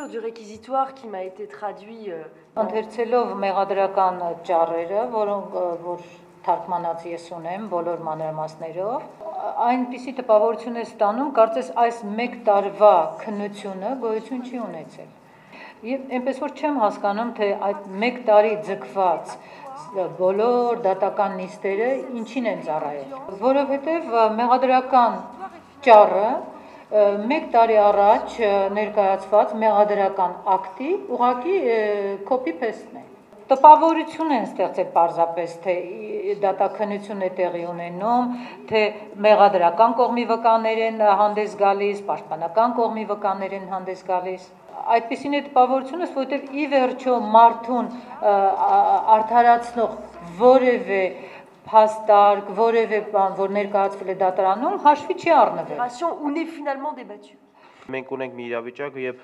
Du réquisitoire qui m'a été traduit Ընթերցելով մեղադրական ճառերը, որ թարգմանած ես ունեմ բոլոր մանրամասներով, այնպիսի տպավորություն է ստանում, կարծես այս մեկ տարվա քննությունը գոյություն չի ունեցել։ Եվ այնպես որ չեմ հասկանում, թե այդ մեկ տարի ձգված բոլոր դատական նիստերը ինչին են ծառայել, որովհետև մեղադրական ճառը մեկ տարի առաջ ներկայացված մեղադրական ակտի ուղղակի copy-paste-ն է։ Տպավորություն են ստեղծել պարզապես, թե դատաքննություն է տեղի ունենում, թե մեղադրական կողմի վկաներ են հանդես գալիս, պաշտպանական կողմի վկաներ են հանդես գալիս։ Այդպիսին է տպավորությունս, որովհետև ի վերջո մարդուն արդարացնող որևէ փաստարկ, որևէ բան, որ ներկայացվել է դատարանում, հաշվի չի առնվել։ où n'est finalement débattu. Մենք ունենք մի իրավիճակ, երբ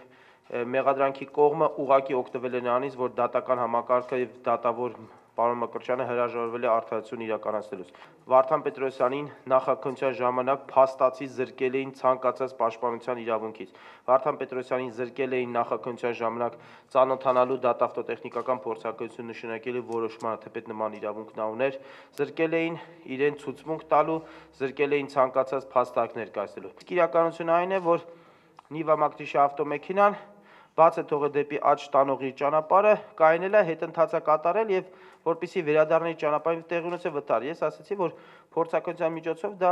մեղադրանքի կողմը ուղղակի օգտվել է նրանից, որ դատական համակարգը եւ դատավոր պարոն Մկրտչյանը հրաժարվել է արդարացություն իրականացնելուց։ Վարդան Պետրոսյանին նախաքննության ժամանակ փաստացի զրկել էին ցանկացած պաշտպանության իրավունքից։ Վարդան Պետրոսյանին զրկել էին նախաքննության ժամանակ ծանոթանալու դատավտոտեխնիկական փորձարկություն նշանակելու որոշմանը, թեպետ նման իրավունք նա ուներ, զրկել էին իրեն ցուցմունք տալու, զրկել էին ցանկացած փաստարկ ներկայացնելու։ Իսկ իրականությունը այն է, որ Նիվա Մակտիշի ավտոմեքենան բաց է թողել դեպի աճ տանողի ճանապարհը, կայանել է հետընթացը կատարել եւ որպեսի վերադառնի ճանապարհին տեղի ունեցել վթար։ Ես ասացի, որ փորձարկության միջոցով դա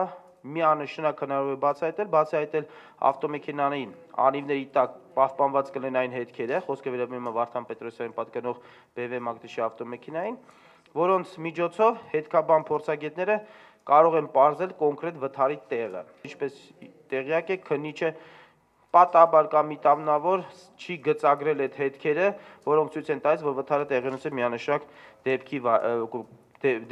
միանշանակ հնարավոր է բացահայտել ավտոմեքենային անիվների տակ պահպանված կլինեն հետքերը, խոսքը վերաբերում է Վարդան Պետրոսյանին պատկանող BMW Մակտիշի ավտոմեքենային, որոնց միջոցով հետքաբան փորձագետները կարող են պարզել կոնկրետ վթարի տեղը։ Ինչպես տեղյակ եք, քննիչը պատահաբար կամ միտամնավոր չի գծագրել այդ հետքերը, որոնք ցույց են տալիս, որ վթարը տեղի ունեցել միանշանակ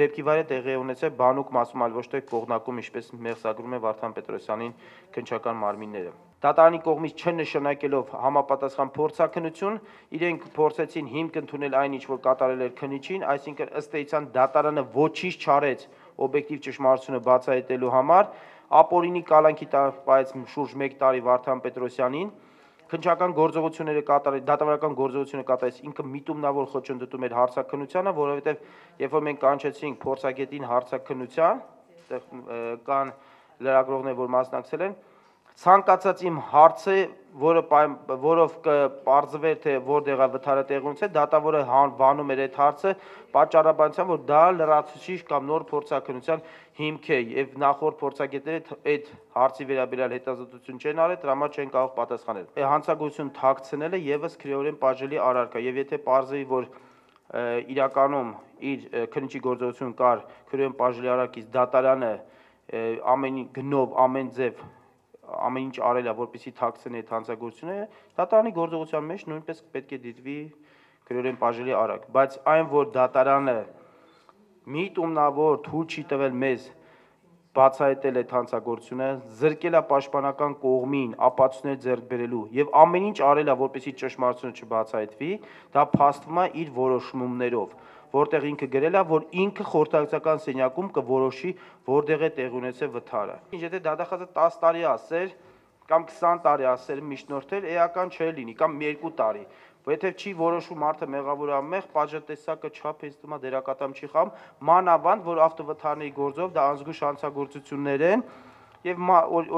դեպքի վայրը տեղի ունեցել բանուկ մասում, այլ ոչ թե կողմնակում, ինչպես մեղսագրում է Վարդան Պետրոսյանին քննչական մարմինները։ Դատարանի կողմից չնշանակելով համապատասխան փորձաքննություն, իրենք փորձեցին հիմք ընդունել այն, ինչ որ կատարել էր քննիչին, այսինքն ըստ էության դատարանը ոչինչ չարեց օբյեկտիվ ճշմարտությունը բացահայտելու համար, ապօրինի կալանքի տապայեց շուրջ 1 տարի Վարդան Պետրոսյանին, քննչական գործողությունները կատարել, դատավարական գործողությունը կատարեց ինքը միտումնավոր խոչընդոտում էր հարցաքննությանը, որովհետև երբ որ մենք կանչեցինք փորձագետին հարցաքննության, կան լրագրողներ, որ մասնակցել են, ցանկացած իմ հարցը, որով կպարզվեր, թե որտեղ է վթարը տեղի ունեցել, դատավորը վանում էր այդ հարցը պատճառաբանությամբ, որ դա լրացուցիչ կամ նոր փորձաքննության հիմք է, եւ նախորդ փորձագետները այդ հարցի վերաբերյալ հետազոտություն չեն արել, դրա համար չեն կարող պատասխանել։ Հանցագործություն թաքցնելը եւս քրեորեն բաժելի արարք է, եւ եթե պարզվի, որ իրականում իր քննիչի գործողություն կար քրեորեն բաժելի արարքից դատարանը ամեն գնով, ամեն ձև ամեն ինչ արել է, որպեսզի թաքցնի այդ հանցագործությունը, դատարանի գործողության մեջ նույնպես պետք է դիտվի քրեորեն բաժելի արարք, բայց այն, որ դատարանը միտումնավոր թույլ չի տվել մեզ բացահայտել այդ հանցագործությունը, զրկել է պաշտպանական կողմին ապացույցներ ձեռք բերելու եւ ամեն ինչ արել է, որպեսզի ճշմարտությունը չբացահայտվի, դա փաստվում է իր որոշումներով, որտեղ ինքը գրել է, որ ինքը խորհրդակցական սենյակում կորոշի, որտեղ է տեղի ունեցել վթարը։ Եթե դատախազը 10 տարի ասեր կամ 20 տարի ասեր միջնորդել, էական չէ լինի, կամ 2 տարի, որովհետև չի որոշում մարդը մեղավոր ամեղ, պատժատեսակը չափեցնում է դերակատամ չի խամ, մանավանդ, որ ավտովթարների գործով դա անզգույշ հանցագործություններ են, եւ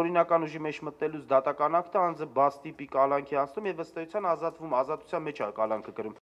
օրինական ուժի մեջ մտնելուց դատական ակտը անձը բաց տիպի կալանքի անցնում եւ ըստ էության ազատվում, ազատության մեջ է կալանքը կրում։